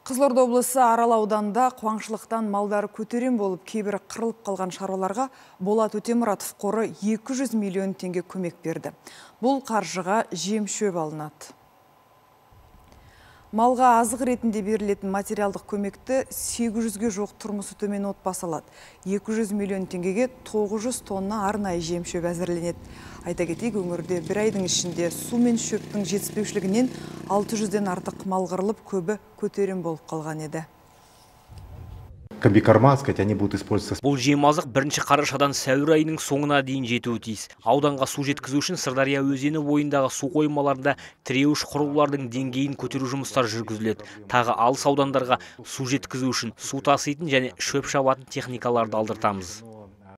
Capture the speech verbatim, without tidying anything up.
Қызылорда облысы Арал ауданында қуаңшылықтан малдары көтерем болып, кейбірі қырылып қалған шаруаларға Болат Өтемұратов қоры екі жүз миллион теңге көмек берді. Бұл қаржыға жем шөп алынады. Малға азық ретінде берілетін материалдық көмекті сегіз жүзге жоқ тұрмысы төмен отбасы алады. екі жүз миллион теңгеге тоғыз жүз тонна арнайы жем шөп әзірленеді. Айта кетейік, өңірде бір айдың ішінде су мен шөптің жетіспеушілігінен алты жүзден артық мал қырылып, көбі көтерем болып қалған еді. Комбикорма, сказать, они будут использоваться. Бұл жемазық бірінші қарашадан сәуір айының соңына дейін жетуі тиіс. Ауданға су жеткізу үшін Сырдария өзені бойындағы су қоймаларында тіреуіш құрылғылардың деңгейін көтеру жұмыстары жүргізіледі. Тағы алыс аудандарға су жеткізу үшін су таситын және шөп шабатын техникаларды алдыртамыз.